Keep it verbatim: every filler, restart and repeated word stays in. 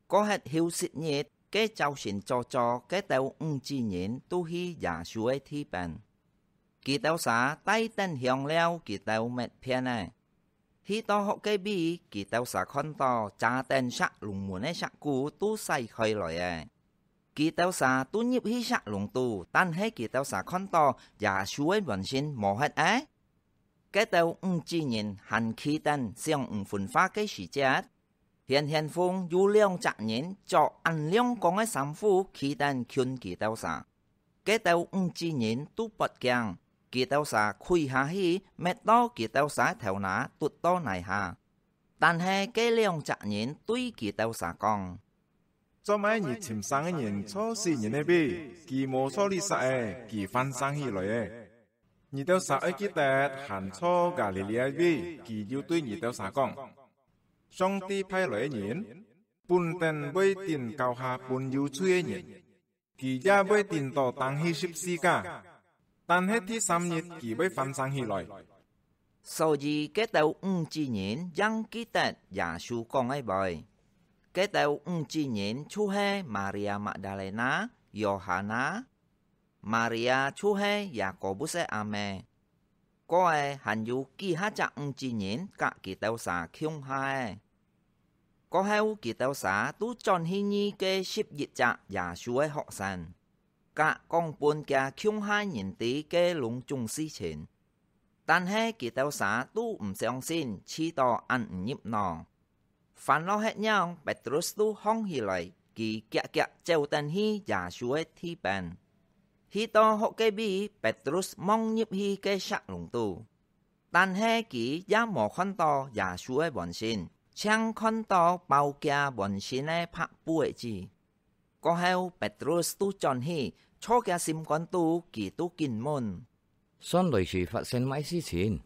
過忒休息日，該朝晨早早，該兜五子人都去耶穌个地邊。佢兜儕帶等香料，佢兜乜騙仔。去到屋个位，佢兜儕看到遮等石籠門个石牯都徙開來仔。佢兜儕都入去石籠肚，但係佢兜儕看到耶穌个門神無忒仔。該兜五子人還企等想毋分化个時節，顯顯風有兩隻人著恁亮光个衫褲企等近佢兜儕。該兜五子人都發驚，佢兜儕跪下去，搣到佢兜儕个頭那㪐到泥下。但係該兩隻人對佢兜儕講：「做麼你尋生个人坐死人个位？佢無坐這儕仔，佢翻生起來仔。你兜儕愛記得，還坐加利利个位，佢有對你兜儕講：上帝派來个人，本等會頂交下分有罪个人，佢也會頂到釘去十字架，但係第三日佢會翻生起來。」所以該兜五子人正記得耶穌講个話。該兜五子人就係Maria Magdalena、Yohana、Maria就係Yakobus个阿姆，過仔還有幾下隻五子人佮佢兜儕共下仔。過後佢兜儕都轉去認該十一隻耶穌个學生，佮講分厥共下人知个攏總事情。但係佢兜儕都毋相信，試著恁毋入腦。 煩惱忒樣，Petrus都䟘起來，佢遽遽走等去耶穌个地邊。去到屋个位，Petrus望入去該石籠肚，但係佢也無看到耶穌个門神，淨看到包厥門神个白布个紙。過後，Petrus都轉去，在厥心肝肚，佢都緊問：「算來時發生麼事情？